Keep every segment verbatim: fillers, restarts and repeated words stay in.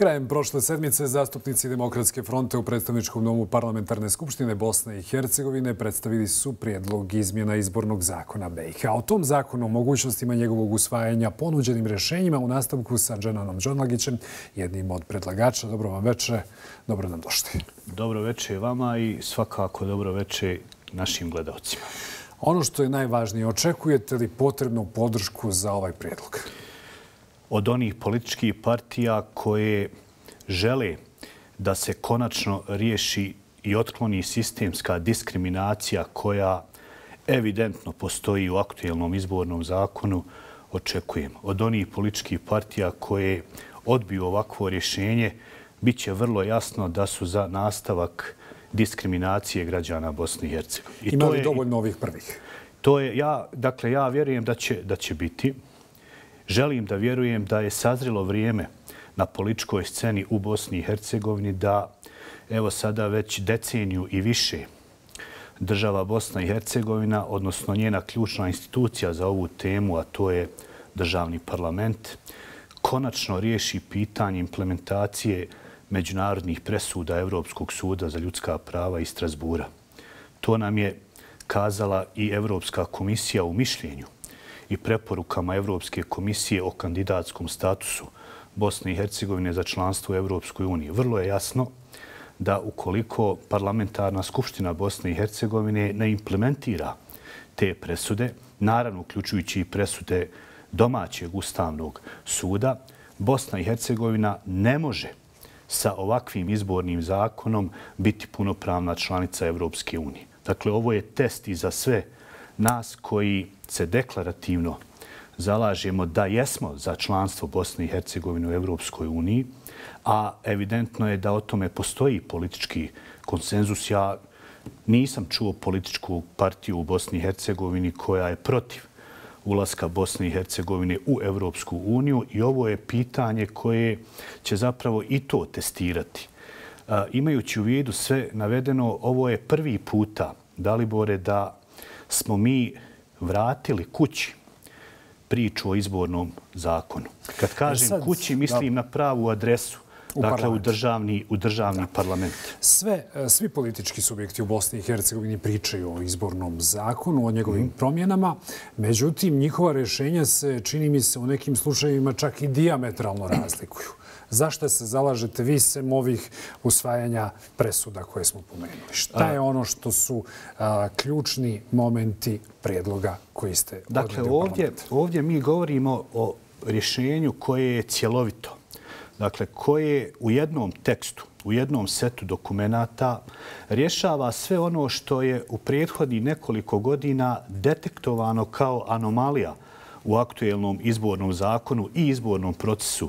Krajem prošle sedmice zastupnici Demokratske fronte u predstavničkom domu Parlamentarne skupštine Bosne i Hercegovine predstavili su prijedlog izmjena izbornog zakona B i H. O tom zakonu, o mogućnostima njegovog usvajanja, ponuđenim rješenjima u nastavku sa Dženanom Džonlagićem, jednim od predlagača. Dobro vam veče, dobro nam došli. Dobro veče vama i svakako dobro veče našim gledalcima. Ono što je najvažnije, očekujete li potrebnu podršku za ovaj prijedlog? Od onih političkih partija koje žele da se konačno riješi i otkloni sistemska diskriminacija koja evidentno postoji u aktuelnom izbornom zakonu, očekujem. Od onih političkih partija koje odbiju ovakvo rješenje, bit će vrlo jasno da su za nastavak diskriminacije građana Bosne i Hercegovine. Ima li dovoljno ovih prvih? To je, ja, dakle, ja vjerujem da će, da će biti. Želim da vjerujem da je sazrilo vrijeme na političkoj sceni u Bosni i Hercegovini da, evo sada već deceniju i više, država Bosna i Hercegovina, odnosno njena ključna institucija za ovu temu, a to je državni parlament, konačno riješi pitanje implementacije međunarodnih presuda Evropskog suda za ljudska prava iz Strasbura. To nam je kazala i Evropska komisija u mišljenju i preporukama Evropske komisije o kandidatskom statusu Bosne i Hercegovine za članstvo u Evropskoj uniji. Vrlo je jasno da ukoliko Parlamentarna skupština Bosne i Hercegovine ne implementira te presude, naravno uključujući i presude domaćeg ustavnog suda, Bosna i Hercegovina ne može sa ovakvim izbornim zakonom biti punopravna članica Evropske unije. Dakle, ovo je test i za sve nas koji se deklarativno zalažemo da jesmo za članstvo Bosne i Hercegovine u Evropskoj uniji, a evidentno je da o tome postoji politički konsenzus. Ja nisam čuo političku partiju u Bosni i Hercegovini koja je protiv ulaska Bosne i Hercegovine u Evropsku uniju i ovo je pitanje koje će zapravo i to testirati. Imajući u vidu sve navedeno, ovo je prvi puta, Dalibore, da smo mi vratili kući priču o izbornom zakonu. Kad kažem kući, mislim na pravu adresu, dakle u državni, u državni parlament. Sve, svi politički subjekti u Bosni i Hercegovini pričaju o izbornom zakonu, o njegovim promjenama. Međutim, njihova rješenja se, čini mi se, u nekim slučajevima čak i dijametralno razlikuju. Zašto se zalažete vi sem ovih usvajanja presuda koje smo pomenuli? Šta je ono što su a, ključni momenti prijedloga koji ste odredili u Dakle, ovdje, ovdje mi govorimo o rješenju koje je cjelovito. Dakle, koje u jednom tekstu, u jednom setu dokumenata rješava sve ono što je u prethodnih nekoliko godina detektovano kao anomalija u aktuelnom izbornom zakonu i izbornom procesu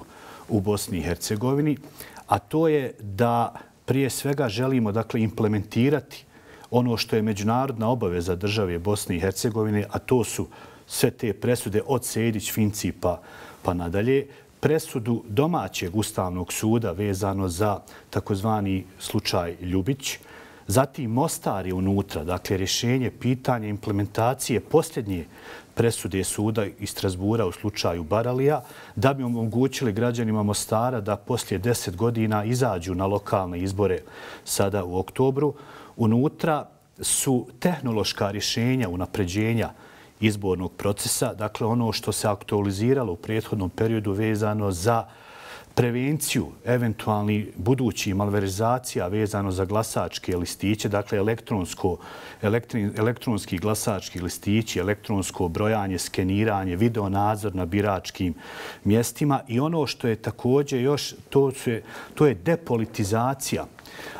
u Bosni i Hercegovini, a to je da prije svega želimo, dakle, implementirati ono što je međunarodna obaveza države Bosne i Hercegovine, a to su sve te presude od Sejdić, Finci pa, pa nadalje, presudu domaćeg ustavnog suda vezano za takozvani slučaj Ljubić, zatim Mostar je unutra, dakle, rješenje pitanja implementacije posljednje presude suda iz Strasbura u slučaju Baralija, da bi omogućili građanima Mostara da poslije deset godina izađu na lokalne izbore sada u oktobru. Unutra su tehnološka rješenja unapređenja izbornog procesa, dakle ono što se aktualiziralo u prethodnom periodu vezano za prevenciju eventualnih budućih malverzacija vezano za glasačke listiće, dakle elektronsko, elektri, elektronski glasački listići, elektronsko brojanje, skeniranje, videonadzor na biračkim mjestima i ono što je također još, to, su, to je depolitizacija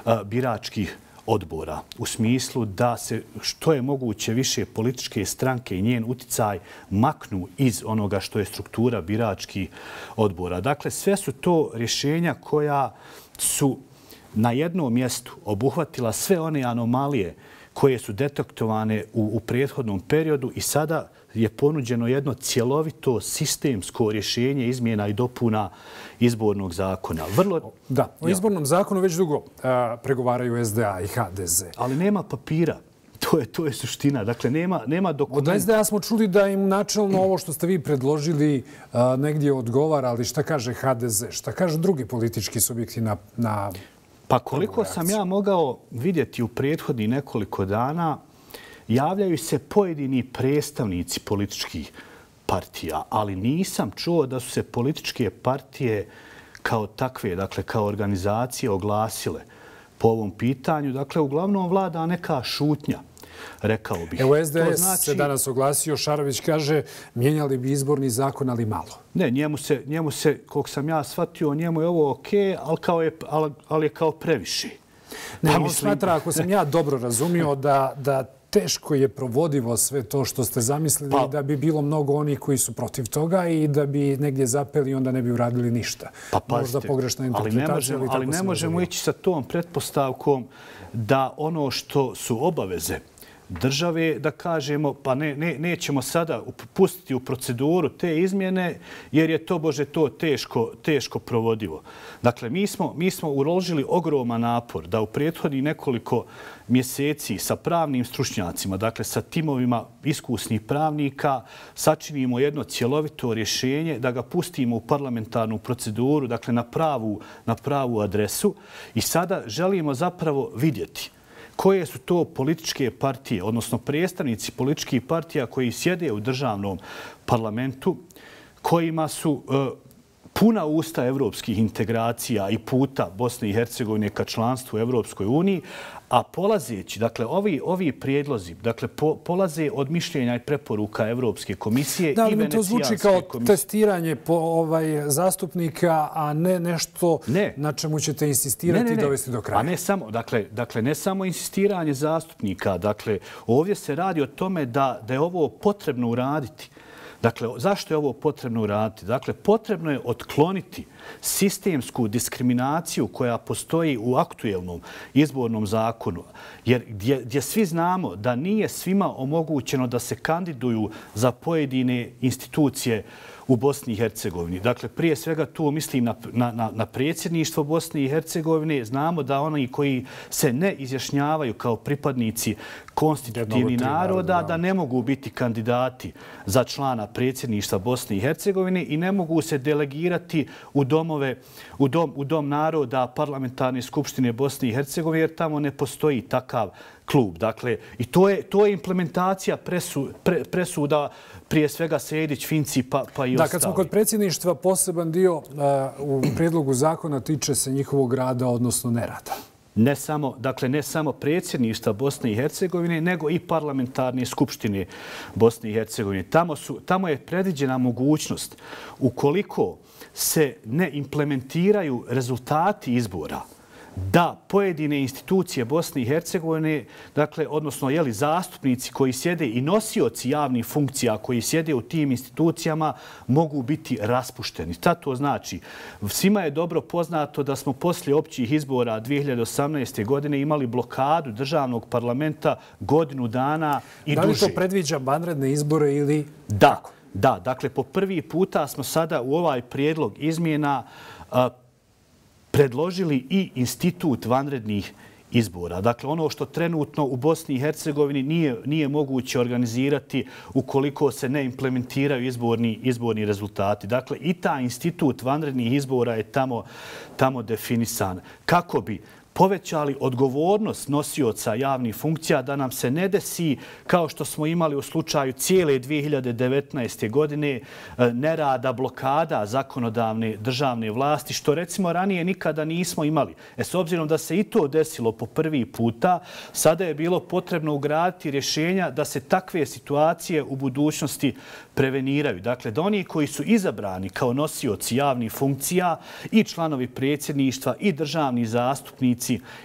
a, biračkih odbora u smislu da se što je moguće više političke stranke i njen uticaj maknu iz onoga što je struktura biračkih odbora. Dakle, sve su to rješenja koja su na jednom mjestu obuhvatila sve one anomalije koje su detektovane u, u prethodnom periodu i sada je ponuđeno jedno cjelovito sistemsko rješenje izmjena i dopuna izbornog zakona. Vrlo... Da, o izbornom zakonu već dugo a, pregovaraju S D A i H D Z. Ali nema papira. To je, to je suština. Dakle, nema, nema dokumenta. Od es de a smo čuli da im načelno ovo što ste vi predložili a, negdje odgovara, ali šta kaže ha de ze? Šta kaže drugi politički subjekti na, na Pa koliko sam ja mogao vidjeti u prethodnih nekoliko dana, javljaju se pojedini predstavnici političkih partija, ali nisam čuo da su se političke partije kao takve, dakle kao organizacije oglasile po ovom pitanju. Dakle, uglavnom vlada neka šutnja, rekao bih. Evo, es de es znači... se danas oglasio. Šarović kaže, mijenjali bi izborni zakon, ali malo. Ne, njemu se, njemu se koliko sam ja shvatio, njemu je ovo okej, ali, kao je, ali, ali je kao previše. Ne, pa on mislim... smatra, ako sam ja dobro razumio, da, da teško je provodivo sve to što ste zamislili, pa, da bi bilo mnogo onih koji su protiv toga i da bi negdje zapeli i onda ne bi uradili ništa. Pa pazite, možda pogrešna interpretacija. Ali ne možemo, ali ne možemo ići sa tom pretpostavkom da ono što su obaveze države, da kažemo, pa ne, ne, nećemo sada pustiti u proceduru te izmjene, jer je to, Bože, to teško, teško provodivo. Dakle, mi smo, mi smo uložili ogroman napor da u prethodnih nekoliko mjeseci sa pravnim stručnjacima, dakle sa timovima iskusnih pravnika, sačinimo jedno cjelovito rješenje, da ga pustimo u parlamentarnu proceduru, dakle na pravu, na pravu adresu. I sada želimo zapravo vidjeti koje su to političke partije, odnosno predstavnici političkih partija koji sjede u državnom parlamentu, kojima su e, puna usta evropskih integracija i puta Bosne i Hercegovine ka članstvu u Evropskoj uniji, a polazeći, dakle, ovi, ovi prijedlozi, dakle, po, polaze od mišljenja i preporuka Evropske komisije da, i Venecijanske komisije. Da, to zvuči kao testiranje po, ovaj, zastupnika, a ne nešto ne. na čemu ćete insistirati ne, ne, ne. i dovesti do kraja. A ne samo, dakle, dakle, ne samo insistiranje zastupnika, dakle, ovdje se radi o tome da, da je ovo potrebno uraditi. Dakle, zašto je ovo potrebno uraditi? Dakle, potrebno je otkloniti sistemsku diskriminaciju koja postoji u aktuelnom izbornom zakonu. Jer gdje, gdje svi znamo da nije svima omogućeno da se kandiduju za pojedine institucije u Bosni i Hercegovini. Dakle, prije svega tu mislim na, na, na predsjedništvo Bosne i Hercegovine. Znamo da oni koji se ne izjašnjavaju kao pripadnici konstitutivnih naroda, da ne mogu biti kandidati za člana predsjedništva Bosne i Hercegovine i ne mogu se delegirati u domove, u dom, u dom naroda Parlamentarne skupštine Bosne i Hercegovine, jer tamo ne postoji takav klub. Dakle, i to je, to je implementacija presu, pre, presuda prije svega Sejdić, Finci pa, pa i da, ostali. Kad smo kod predsjedništva, poseban dio uh, u prijedlogu zakona tiče se njihovog rada, odnosno nerada. Ne samo, dakle, ne samo predsjedništva Bosne i Hercegovine, nego i parlamentarne skupštine Bosne i Hercegovine. Tamo, su, tamo je predviđena mogućnost, ukoliko se ne implementiraju rezultati izbora, da pojedine institucije Bosne i Hercegovine, dakle, odnosno jeli, zastupnici koji sjede i nosioci javnih funkcija koji sjede u tim institucijama mogu biti raspušteni. Šta to znači? Svima je dobro poznato da smo poslije općih izbora dvije hiljade osamnaeste. godine imali blokadu državnog parlamenta godinu dana i duže. Da li to predviđa vanredne izbore ili... Da, da. Dakle, po prvi puta smo sada u ovaj prijedlog izmjena a, predložili i institut vanrednih izbora. Dakle, ono što trenutno u Bosni i Hercegovini nije, nije moguće organizirati ukoliko se ne implementiraju izborni, izborni rezultati. Dakle, i taj institut vanrednih izbora je tamo, tamo definisan. Kako bi povećali odgovornost nosioca javnih funkcija da nam se ne desi kao što smo imali u slučaju cijele dvije hiljade devetnaeste. godine nerada, blokada zakonodavne državne vlasti, što recimo ranije nikada nismo imali. E, s obzirom da se i to desilo po prvi puta, sada je bilo potrebno ugraditi rješenja da se takve situacije u budućnosti preveniraju. Dakle, da oni koji su izabrani kao nosioci javnih funkcija i članovi predsjedništva i državni zastupnici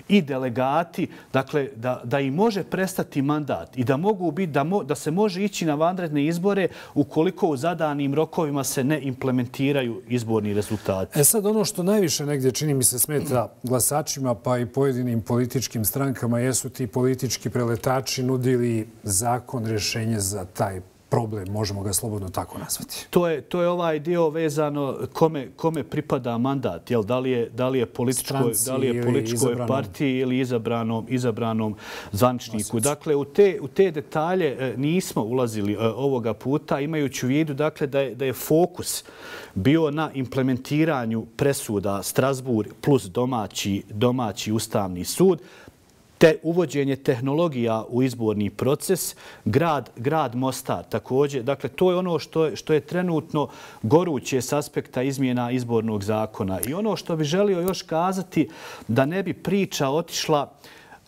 i delegati, dakle, da, da im može prestati mandat i da mogu biti, da, mo, da se može ići na vanredne izbore ukoliko u zadanim rokovima se ne implementiraju izborni rezultati. E sad, ono što najviše negdje čini mi se smeta glasačima pa i pojedinim političkim strankama jesu ti politički preletači nudili zakon, rješenje za taj problem, možemo ga slobodno tako nazvati. To je, to je ovaj dio vezano kome, kome pripada mandat. Jel, da li je, da li je političkoj, da li je političkoj partiji ili izabranom, izabranom zvaničniku. Dakle, u te, u te detalje nismo ulazili ovoga puta, imajući u vidu dakle, da, je, da je fokus bio na implementiranju presuda Strasbourg plus domaći, domaći ustavni sud, te uvođenje tehnologija u izborni proces, grad, grad Mostar također. Dakle, to je ono što je, što je trenutno goruće s aspekta izmjena izbornog zakona. I ono što bi želio još kazati, da ne bi priča otišla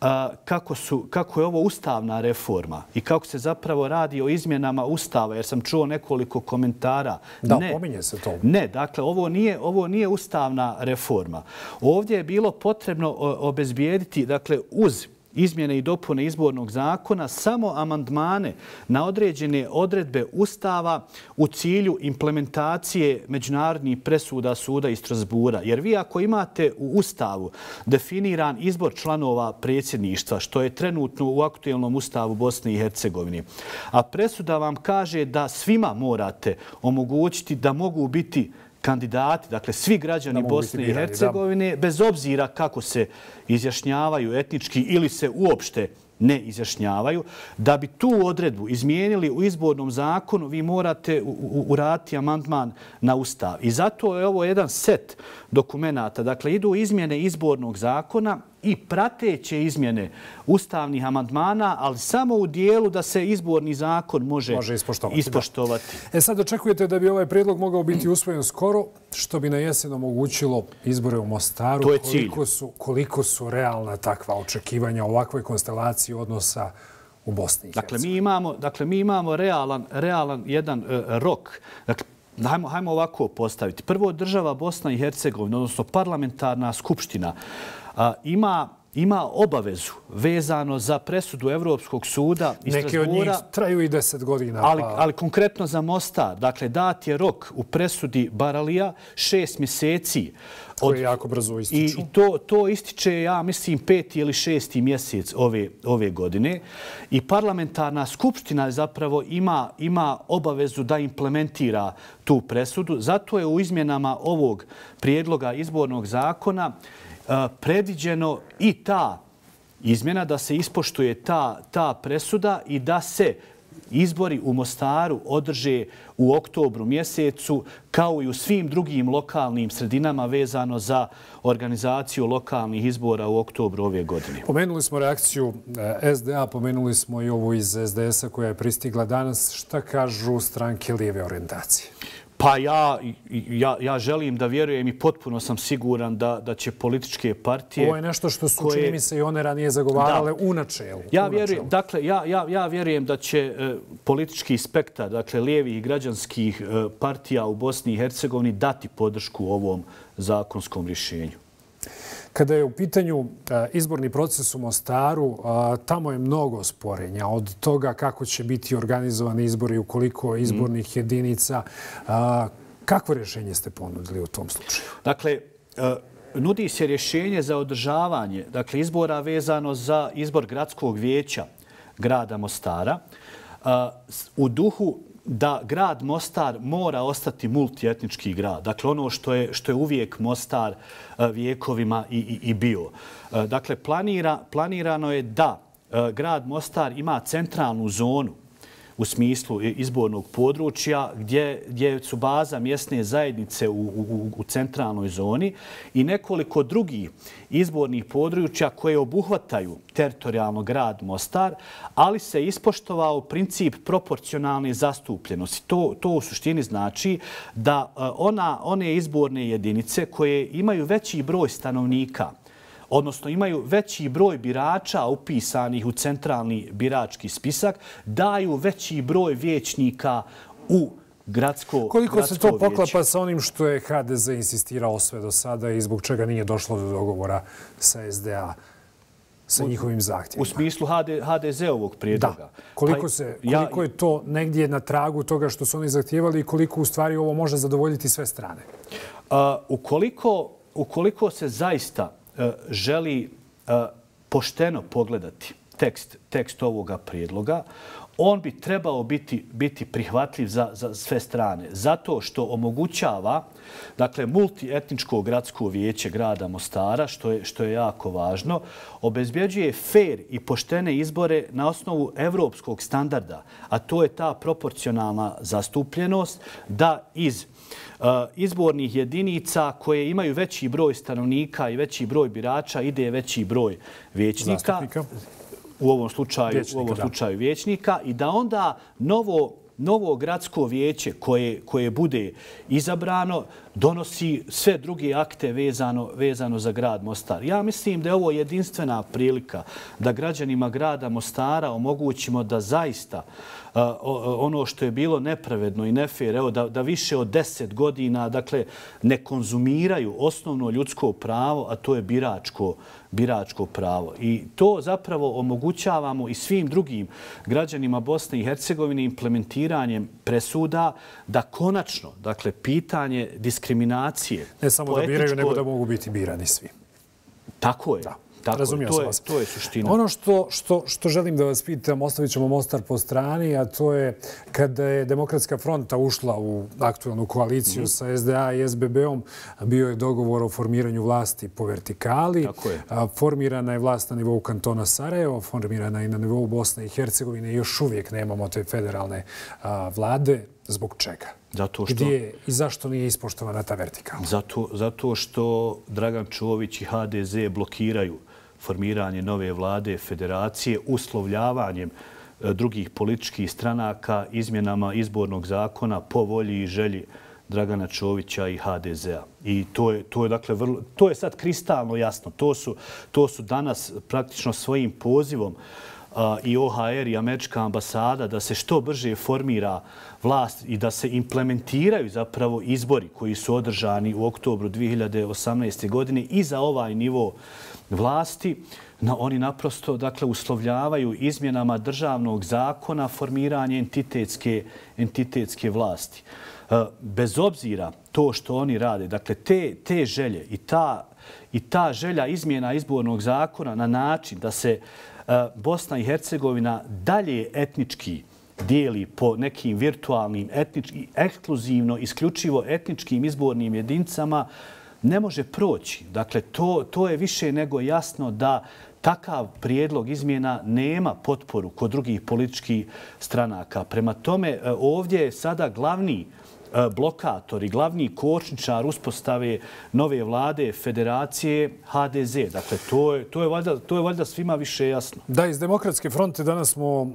a, kako, su, kako je ovo ustavna reforma i kako se zapravo radi o izmjenama ustava, jer sam čuo nekoliko komentara. Da, ne, pominje se to. Ne, dakle, ovo nije, ovo nije ustavna reforma. Ovdje je bilo potrebno obezbijediti, dakle, uz izmjene i dopune izbornog zakona, samo amandmane na određene odredbe Ustava u cilju implementacije međunarodnih presuda suda iz Strasbourga. Jer vi ako imate u Ustavu definiran izbor članova predsjedništva, što je trenutno u aktuelnom Ustavu Bosne i Hercegovine, a presuda vam kaže da svima morate omogućiti da mogu biti kandidati, dakle svi građani Bosne i Hercegovine, bez obzira kako se izjašnjavaju etnički ili se uopšte ne izjašnjavaju, da bi tu odredbu izmijenili u izbornom zakonu, vi morate uraditi amandman na Ustav. I zato je ovo jedan set dokumenata. Dakle, idu izmjene izbornog zakona i prateće izmjene ustavnih amandmana, ali samo u dijelu da se izborni zakon može, može ispoštovati. ispoštovati. E sad očekujete da bi ovaj prijedlog mogao biti usvojen skoro, što bi na jesen omogućilo izbore u Mostaru. To je cilj. Koliko su, koliko su realna takva očekivanja ovakvoj konstelaciji odnosa u Bosni i Hercegovini? Dakle, mi imamo, dakle, mi imamo realan, realan jedan uh, rok. Dakle, hajmo, hajmo ovako postaviti. Prvo, država Bosna i Hercegovina, odnosno parlamentarna skupština, uh, ima ima obavezu vezano za presudu Evropskog suda iz Strasbourga. Neke od njih traju i deset godina. Ali, ali konkretno za Mostar. Dakle, dat je rok u presudi Baralija šest mjeseci. Od, koje jako brzo ističu. I to, to ističe, ja mislim, peti ili šesti mjesec ove, ove godine. I parlamentarna skupština zapravo ima, ima obavezu da implementira tu presudu. Zato je u izmjenama ovog prijedloga izbornog zakona predviđeno i ta izmjena, da se ispoštuje ta, ta presuda i da se izbori u Mostaru održe u oktobru mjesecu, kao i u svim drugim lokalnim sredinama vezano za organizaciju lokalnih izbora u oktobru ove godine. Pomenuli smo reakciju S D A, pomenuli smo i ovu iz S D S-a koja je pristigla danas. Šta kažu stranke lijeve orijentacije? Pa ja, ja, ja želim da vjerujem i potpuno sam siguran da, da će političke partije... Ovo je nešto što su, koje, čini mi se, i one ranije zagovarale da, u načelu. Ja, u vjerujem, načelu. Dakle, ja, ja, ja vjerujem da će e, politički spektar, dakle, lijevih i građanskih e, partija u Bosni i Hercegovini dati podršku ovom zakonskom rješenju. Kada je u pitanju izborni proces u Mostaru, tamo je mnogo sporenja. Od toga kako će biti organizovani izbori, u koliko izbornih jedinica. Kakvo rješenje ste ponudili u tom slučaju? Dakle, nudi se rješenje za održavanje dakle, izbora vezano za izbor gradskog vijeća grada Mostara u duhu da grad Mostar mora ostati multietnički grad. Dakle, ono što je, što je uvijek Mostar vijekovima i, i, i bio. Dakle, planira, planirano je da grad Mostar ima centralnu zonu u smislu izbornog područja gdje, gdje su baza mjesne zajednice u, u, u centralnoj zoni i nekoliko drugih izbornih područja koje obuhvataju teritorijalno grad Mostar, ali se ispoštovao princip proporcionalne zastupljenosti. To, to u suštini znači da ona, one izborne jedinice koje imaju veći broj stanovnika, odnosno imaju veći broj birača upisanih u centralni birački spisak, daju veći broj vijećnika u gradsko vijeće. Koliko se to poklapa sa onim što je H D Z insistirao sve do sada i zbog čega nije došlo do dogovora sa S D A, sa njihovim zahtjevima? U smislu H D Z-ovog prijedloga. Da. Koliko, se, koliko je to negdje na tragu toga što su oni zahtjevali i koliko u stvari ovo može zadovoljiti sve strane? Uh, ukoliko, ukoliko se zaista želi uh, pošteno pogledati tekst, tekst ovoga prijedloga, on bi trebao biti, biti prihvatljiv za, za sve strane. Zato što omogućava dakle, multietničko gradsko vijeće grada Mostara, što je, što je jako važno, obezbjeđuje fair i poštene izbore na osnovu evropskog standarda, a to je ta proporcionalna zastupljenost da iz uh, izbornih jedinica koje imaju veći broj stanovnika i veći broj birača ide veći broj vijećnika. Zastupnika. U ovom slučaju, Vječnika, u ovom da. slučaju vijećnika i da onda novo, novo gradsko vijeće koje, koje bude izabrano donosi sve druge akte vezano, vezano za grad Mostar. Ja mislim da je ovo jedinstvena prilika da građanima grada Mostara omogućimo da zaista uh, ono što je bilo nepravedno i nefer, evo, da, da više od deset godina dakle, ne konzumiraju osnovno ljudsko pravo, a to je biračko biračko pravo. I to zapravo omogućavamo i svim drugim građanima Bosne i Hercegovine implementiranjem presuda da konačno, dakle, pitanje diskriminacije... Ne samo da biraju, nego da mogu biti birani svi. Tako je. Da. Tako, Razumio to, sam je, vas. to je suština. Ono što, što, što želim da vas pitam, ostavit ćemo Mostar po strani, a to je kada je Demokratska fronta ušla u aktualnu koaliciju mm-hmm. sa S D A i S B B-om, bio je dogovor o formiranju vlasti po vertikali. Tako je. Formirana je vlast na nivou kantona Sarajevo, formirana i na nivou Bosne i Hercegovine. Još uvijek nemamo te federalne a, vlade. Zbog čega? Zato što, gdje i zašto nije ispoštovana ta vertikala? Zato, zato što Dragan Čović i H D Z blokiraju formiranje nove vlade federacije uslovljavanjem drugih političkih stranaka izmjenama izbornog zakona po volji i želji Dragana Čovića i H D Z-a. I to je, to je, dakle, vrlo, to je sad kristalno jasno. To su, to su danas praktično svojim pozivom i O H R i američka ambasada da se što brže formira vlast i da se implementiraju zapravo izbori koji su održani u oktobru dvije hiljade osamnaeste. godine i za ovaj nivo vlasti. No, oni naprosto dakle, uslovljavaju izmjenama državnog zakona formiranje entitetske, entitetske vlasti. Bez obzira to što oni rade, dakle, te, te želje i ta, i ta želja izmjena izbornog zakona na način da se Bosna i Hercegovina dalje etnički dijeli po nekim virtualnim, etnički, ekskluzivno, isključivo etničkim izbornim jedinicama, ne može proći. Dakle, to, to je više nego jasno da takav prijedlog izmjena nema potporu kod drugih političkih stranaka. Prema tome, ovdje je sada glavni blokator i glavni kočničar uspostave nove vlade federacije H D Z. Dakle, to je, to je, valjda, to je valjda svima više jasno. Da, iz Demokratske fronte danas smo uh,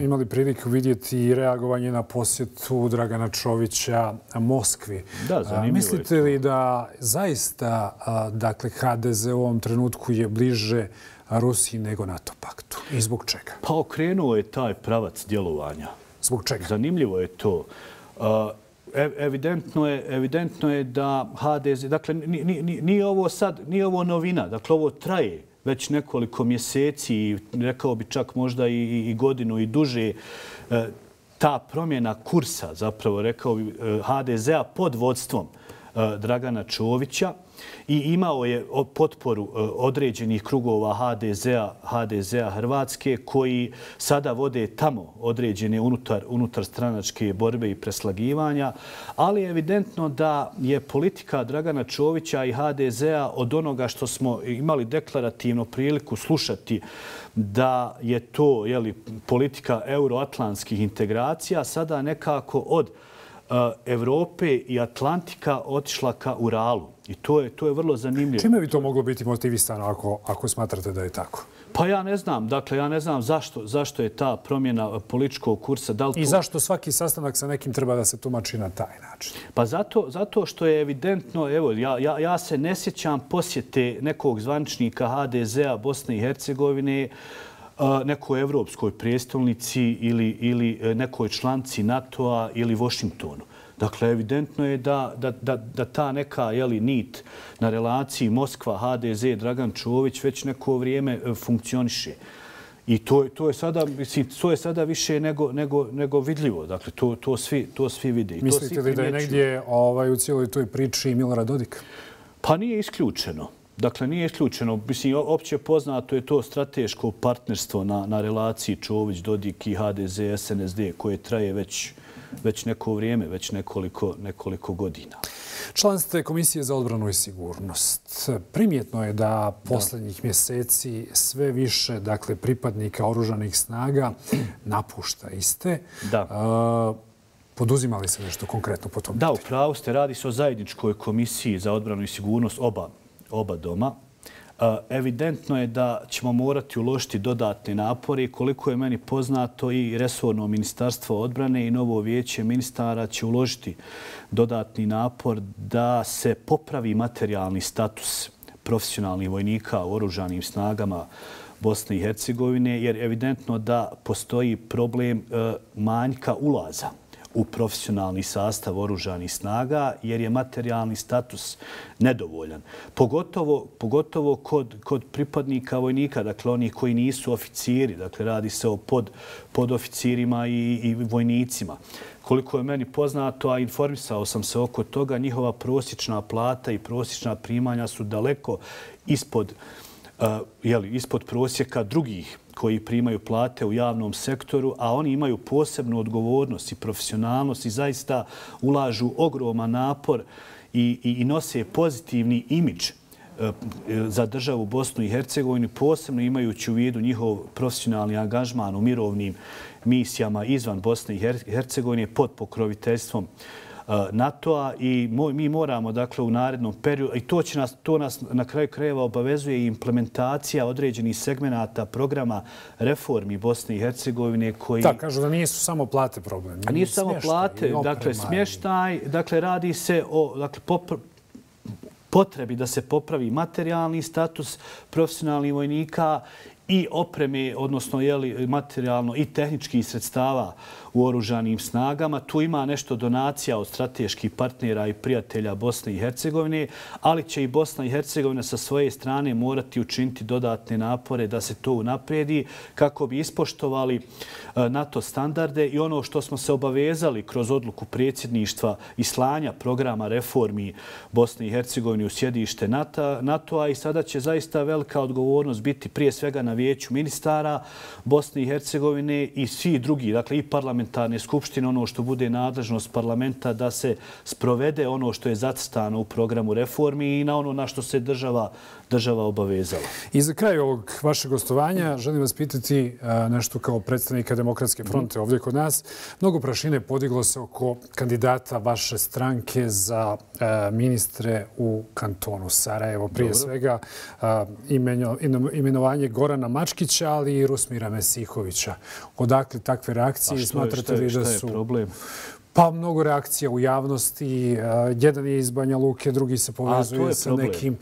imali priliku vidjeti reagovanje na posjetu Dragana Čovića Moskvi. Da, zanimljivo uh, mislite li da zaista uh, dakle, H D Z u ovom trenutku je bliže Rusiji nego NATO paktu? I zbog čega? Pa okrenuo je taj pravac djelovanja. Zbog čega? Zanimljivo je to. Uh, Evidentno je, evidentno je da H D Z, dakle, nije ovo sad, nije ovo novina, dakle, ovo traje već nekoliko mjeseci i rekao bi čak možda i, i godinu i duže. Ta promjena kursa, zapravo rekao bi H D Z-a pod vodstvom Dragana Čovića i imao je potporu određenih krugova H D Z-a, H D Z-a Hrvatske koji sada vode tamo određene unutar, unutar stranačke borbe i preslagivanja, ali je evidentno da je politika Dragana Čovića i H D Z-a od onoga što smo imali deklarativno priliku slušati da je to jeli, politika euroatlantskih integracija, sada nekako od Evrope i Atlantika otišla ka Uralu. I to je, to je vrlo zanimljivo. Čime bi to moglo biti motivisano ako, ako smatrate da je tako? Pa ja ne znam. Dakle, ja ne znam zašto, zašto je ta promjena političkog kursa. Da li to... I zašto svaki sastanak sa nekim treba da se tumači na taj način? Pa zato, zato što je evidentno, evo, ja, ja, ja se ne sjećam posjete nekog zvaničnika H D Z-a Bosne i Hercegovine nekoj evropskoj prijestolnici ili, ili nekoj članci NATO-a ili Washingtonu. Dakle, evidentno je da, da, da, da ta neka jeli, nit na relaciji Moskva, H D Z, Dragan Čović već neko vrijeme funkcioniše. I to, to, je sada, mislim, to je sada više nego, nego, nego vidljivo. Dakle, to, to, svi, to svi vide. Mislite li da je negdje ovaj, u cijeloj toj priči i Milorad Dodik? Pa nije isključeno. Dakle, nije isključeno. Mislim, opće poznato je to strateško partnerstvo na, na relaciji Čović-Dodik i H D Z S N S D koje traje već, već neko vrijeme, već nekoliko, nekoliko godina. Član ste Komisije za odbranu i sigurnost. Primjetno je da posljednjih mjeseci sve više dakle, pripadnika oružanih snaga napušta iste. Da. Poduzimali se nešto konkretno po tom? Da, upravo ste. Radi se o zajedničkoj komisiji za odbranu i sigurnost oba, oba doma. Evidentno je da ćemo morati uložiti dodatne napore i koliko je meni poznato i resorno ministarstvo odbrane i novo vijeće ministara će uložiti dodatni napor da se popravi materijalni status profesionalnih vojnika u oružanim snagama Bosne i Hercegovine, jer evidentno da postoji problem manjka ulaza u profesionalni sastav oružanih snaga, jer je materijalni status nedovoljan. Pogotovo, pogotovo kod, kod pripadnika vojnika, dakle onih koji nisu oficiri, dakle radi se o pod, podoficirima i, i vojnicima. Koliko je meni poznato, a informisao sam se oko toga, njihova prosječna plata i prosječna primanja su daleko ispod, uh, jeli, ispod prosjeka drugih koji primaju plate u javnom sektoru, a oni imaju posebnu odgovornost i profesionalnost i zaista ulažu ogroman napor i, i, i nose pozitivni imidž za državu Bosnu i Hercegovinu, posebno imajući u vidu njihov profesionalni angažman u mirovnim misijama izvan Bosne i Hercegovine pod pokroviteljstvom NATO-a i mi moramo dakle u narednom periodu, i to, će nas, to nas na kraju krajeva obavezuje i implementacija određenih segmenata programa reformi Bosne i Hercegovine koji... Da, kažu da nisu samo plate problem. A nisu samo plate, dakle smještaj, dakle radi se o dakle, popr potrebi da se popravi materijalni status profesionalnih vojnika i opreme, odnosno jeli, materijalno i tehničkih sredstava u oružanim snagama. Tu ima nešto donacija od strateških partnera i prijatelja Bosne i Hercegovine, ali će i Bosna i Hercegovina sa svoje strane morati učiniti dodatne napore da se to unaprijedi kako bi ispoštovali NATO standarde i ono što smo se obavezali kroz odluku predsjedništva i slanja programa reformi Bosne i Hercegovine u sjedište NATO-a i sada će zaista velika odgovornost biti prije svega na vijeću ministara Bosne i Hercegovine i svi drugi, dakle i parlamentarne skupštine, ono što bude nadležnost parlamenta da se sprovede ono što je zacrtano u programu reformi i na ono na što se država, država obavezala. I za kraj ovog vašeg gostovanja želim vas pitati nešto kao predstavnika Demokratske fronte ovdje kod nas. Mnogo prašine podiglo se oko kandidata vaše stranke za ministre u kantonu Sarajevo. Prije Dobro. svega imenovanje Gorana Mačkića, ali i Rusmira Mesihovića. Odakle takve reakcije? A što je, šta je, šta je problem? Pa mnogo reakcija u javnosti. Jedan je iz Banja Luke, drugi se povezuje sa nekim...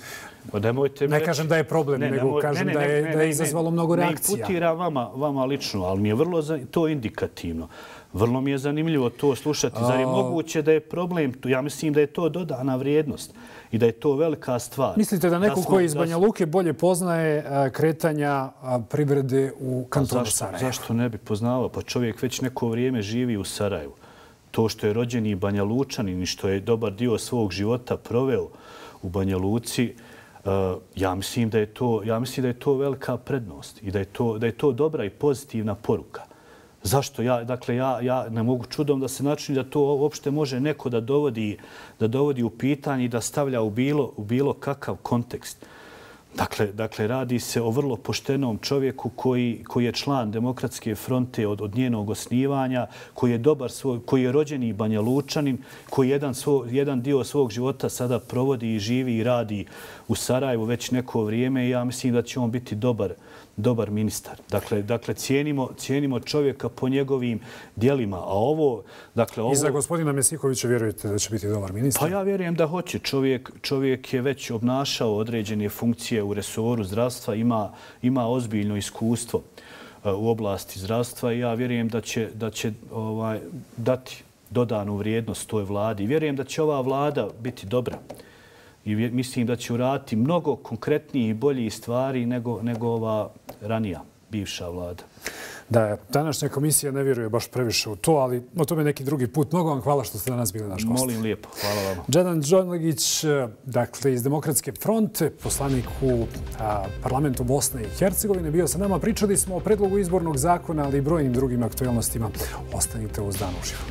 Pa nemojte ne kažem da je problem, ne, nego nemoj, kažem ne, ne, da je, ne, ne, da je izazvalo ne, mnogo reakcija. Ne imputiram vama, vama lično, ali mi je vrlo za, to indikativno. Vrlo mi je zanimljivo to slušati. Zar je moguće da je problem? Ja mislim da je to dodana vrijednost i da je to velika stvar. Mislite da neko da smo, koji iz Banja Luke bolje poznaje kretanja privrede u kantonu Sarajevo? Zašto ne bi poznavao? Pa čovjek već neko vrijeme živi u Sarajevu. To što je rođeni Banja Lučanin i što je dobar dio svog života proveo u Banja Luci, ja mislim da je to, ja mislim da je to velika prednost i da je to, da je to dobra i pozitivna poruka. Zašto? Ja, dakle, ja, ja ne mogu čudom da se načini da to uopšte može neko da dovodi, da dovodi u pitanje i da stavlja u bilo, u bilo kakav kontekst. Dakle, dakle, radi se o vrlo poštenom čovjeku koji, koji je član Demokratske fronte od, od njenog osnivanja, koji je dobar svoj, koji je rođeni Banja Lučanin, koji jedan, svo, jedan dio svog života sada provodi i živi i radi u Sarajevu već neko vrijeme i ja mislim da će on biti dobar, dobar ministar. Dakle, dakle cijenimo, cijenimo čovjeka po njegovim dijelima. A ovo, dakle, ovo... I za gospodina Mesihovića vjerujete da će biti dobar ministar? Pa ja vjerujem da hoće. Čovjek, čovjek je već obnašao određene funkcije u resoru zdravstva, ima, ima ozbiljno iskustvo u oblasti zdravstva i ja vjerujem da će, da će ovaj, dati dodanu vrijednost toj vladi. Vjerujem da će ova vlada biti dobra. I mislim da će uraditi mnogo konkretnijih i boljih stvari nego, nego ova ranija bivša vlada. Da, današnja komisija ne vjeruje baš previše u to, ali o tome neki drugi put. Mnogo vam hvala što ste danas bili naš gost. Molim lijepo, hvala vam. Džedan Džonlegić, dakle, iz Demokratske fronte, poslanik u a, parlamentu Bosne i Hercegovine, bio sa nama. Pričali smo o predlogu izbornog zakona, ali i brojnim drugim aktualnostima. Ostanite uz Dan uživo.